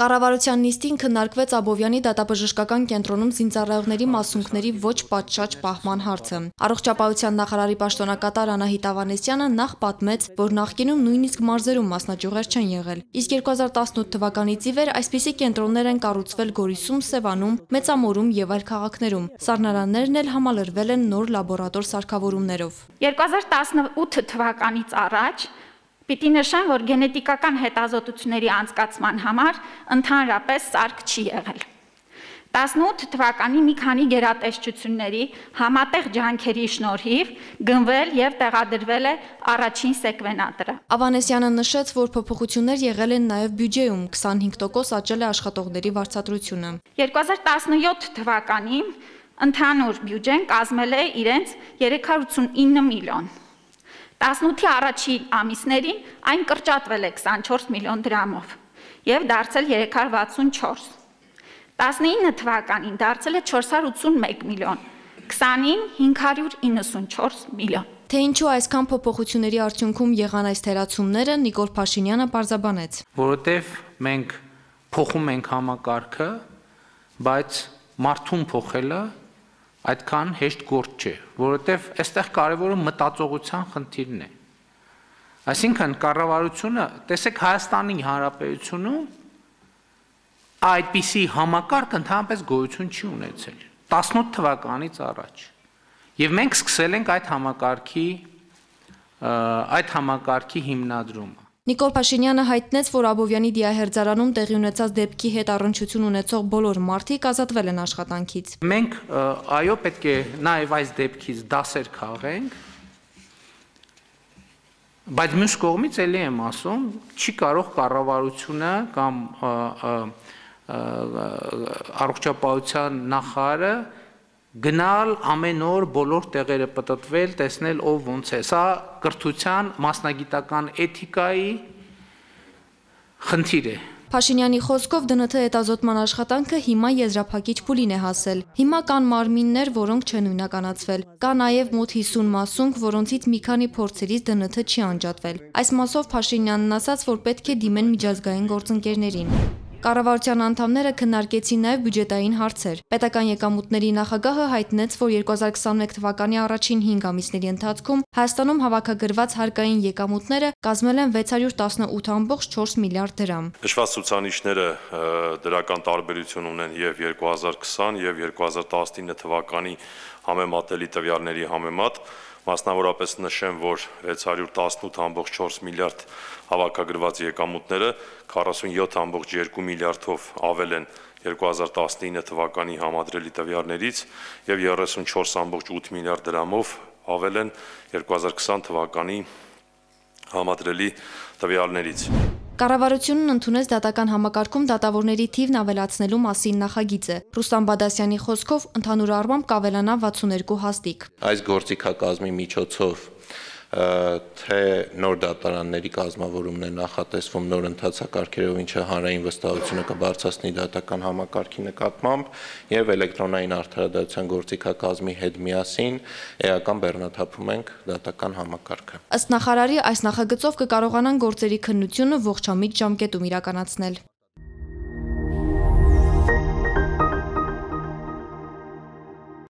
Կառավարության նիստին քննարկվեց Աբովյանի դատաբժշկական կենտրոնում զինծառայողների մասունքների ոչ պատշաճ պահման հարցը։ Առողջապահության նախարարի պաշտոնակատար Անահիտ Ավանեսյանը նախ պատմեց, որ նախկինում նույնիսկ մարզերում մասնաճյուղեր չեն եղել, իսկ 2018 թվականից ի վեր այսպիսի կենտրոններ են կառուցվել Գորիսում, Սևանում, Մեծամորում եւ այլ քաղաքներում։ Սառնարաններն էլ համալրվել են նոր լաբորատոր սարքավորումներով։ 2018 թվականից առաջ պիտի նշեմ, որ գենետիկական հետազոտությունների անցկացման համար ընդհանրապես սարք չի եղել։ 18 թվականի մի քանի գերատեսչությունների համատեղ ջանքերի շնորհիվ գնվել եւ տեղադրվել է առաջին սեկվենատորը։ Ավանեսյանը նշեց, որ փոփոխություններ եղել են նաեւ բյուջեում, 25% աճել է աշխատողների վարձատրությունը։ 2017 թվականին ընդհանուր բյուջեն կազմել է իրենց 389 միլիոն։ 18-ի առաջին ամիսներին այն կրճատվել է 24 միլիոն դրամով եւ դարձել 364։ 19 թվականին դարձել է 481 միլիոն, 20-ին 594 միլիոն։ Թե ինչու այսքան փոփոխությունների արդյունքում եղան այս թերացումները, Նիկոլ Փաշինյանը պարզաբանեց։ Որովհետեւ մենք փոխում ենք համակարգը, բայց մարդուն փոխելը այդքան հեշտ գործ չէ, որովհետև այստեղ կարևորը մտածողության խնդիրն է։ Այսինքն կառավարությունը, տեսեք Հայաստանի Հանրապետությունում այդպիսի համակարգ ընդհանրապես գոյություն չի ունեցել 18 թվականից առաջ։ Եվ մենք սկսել ենք այդ համակարգի հիմնադրումը։ Նիկոլ Փաշինյանը հայտնեց, որ Աբովյանի դիահերձարանում տեղի ունեցած դեպքի հետ առնչություն ունեցող բոլոր մարդիկ ազատվել են աշխատանքից։ Մենք այո պետք է նաև այս դեպքից դասեր քաղենք, բայց մյուս կողմից էլի եմ ասում, չի կարող կառավարությունը կամ առողջապահության նախարարը գնալ ամեն օր բոլոր տեղերը պտտվել, տեսնել ով ոնց է։ Սա կրթության, մասնագիտական էթիկայի խնդիր է։ Փաշինյանի խոսքով ԴՆԹ հետազոտման աշխատանքը հիմա եզրափակիչ փուլին է հասել։ Հիմա կան մարմիններ, որոնք չեն նույնականացվել։ Կա նաև մոտ 50 մասունք, որոնցից մի քանի փորձերից ԴՆԹ չի անջատվել։ Այս մասով Փաշինյանն ասաց, որ պետք է դիմեն միջազգային գործընկերներին։ Կառավարության անդամները քննարկեցին նաև բյուջետային հարցեր։ Պետական եկամուտների նախագահը հայտնեց, որ 2021 թվականի առաջին 5 ամիսների ընթացքում Հայաստանում հավաքագրված հարկային եկամուտները կազմել են 618.4 միլիարդ դրամ։ Նշված ցուցանիշները դրական տարբերություն ունեն եւ 2020 եւ 2019 թվականի համեմատելի տվյալների համեմատ։ Մասնավորապես նշեմ, որ 618.4 միլիարդ հավաքագրված եկամուտները 47.2 միլիարդով ավել են 2019 թվականի համադրելի տվյալներից եւ 34.8 միլիարդ դրամով ավել են 2020 թվականի համադրելի տվյալներից։ Կառավարությունն ընդունեց դատական համակարգում դատավորների թիվն ավելացնելու մասին նախագիծը։ Ռուստամ Բադասյանի խոսքով ընդհանուր առմամբ կավելանա 62 հաստիկ։ Այս գործիքակազմի միջոցով թե նոր դատարանների կազմավորումն է նախատեսվում նոր ընթացակարգերով, ինչը հանրային վստահությունը կբարձրացնի դատական համակարգի նկատմամբ եւ էլեկտրոնային արդարադատության գործիքակազմի հետ միասին էական բեռնաթափում ենք դատական համակարգը։ Ըստ նախարարի, այս նախագծով կկարողանան գործերի քննությունը ողջամիտ ժամկետում իրականացնել։